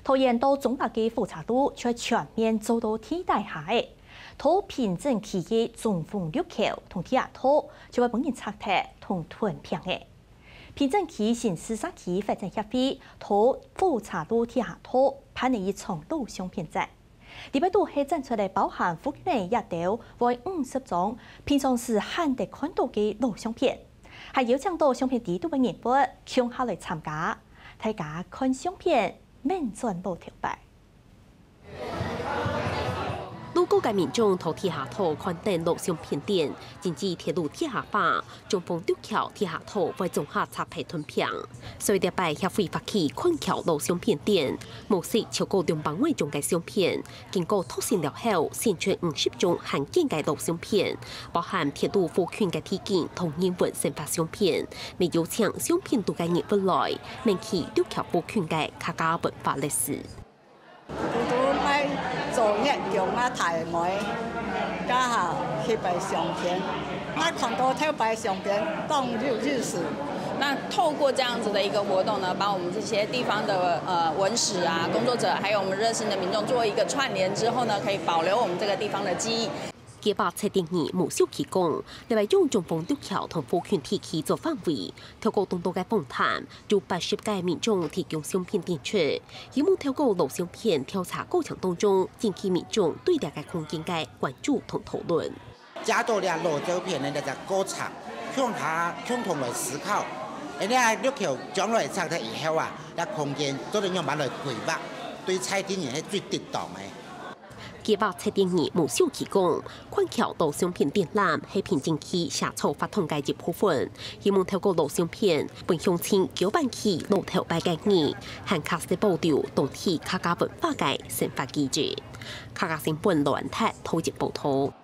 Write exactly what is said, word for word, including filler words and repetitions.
桃園到中壢个火車路就全面做到地底下个，到平鎮區个中豐陸橋同地下道就會分人拆忒同吞平个。平鎮區新市社區發展協會到火車路地下道辦了一場老相片展。裡背肚係展出來包含福建這兜會五十張平常時罕得看到个老相片，還邀請到相片裡肚个人物共下來參加，大家看相片，免轉老頭擺。 路過个民眾在地下道看等老相片展，真濟鐵路地下化，中豐陸橋地下道會總下拆忒吞平。所以這擺協會發起看橋老相片展，募集超過兩百外張个相片，經過篩選了後，選出五十張罕見个老相片，包含鐵路附近个地景同人文生活相片，也邀請相片肚个人物來，愐起陸橋附近个客家文化歷史。 拄拄愛做月經啊，大妹，剛好去擺相片，啊看到頭擺相片當有意思。那透过这样子的一个活动呢，把我们这些地方的呃文史啊工作者，还有我们热心的民众做一个串联之后呢，可以保留我们这个地方的记忆。 佢話七點二無小企講，例外用中豐陸橋同附近地區做範圍，透過當多个訪談，有八十个民眾提供相片展出，希望透過老相片調查過程當中，引起民眾對這个空間个關注同討論。借到這老照片个這隻過程，共下共同來思考，恁樣陸橋將來拆忒以後啊，這空間做得仰般來規劃，對在地人係最適當个。 計畫七點二無小企講，看橋老相片展覽係平鎮區社造活動个一部分，希望透過老相片，分鄉親交換起老頭擺个記憶，還較識保留當地客家文化个生活記憶。客家新聞羅安泰討論報導。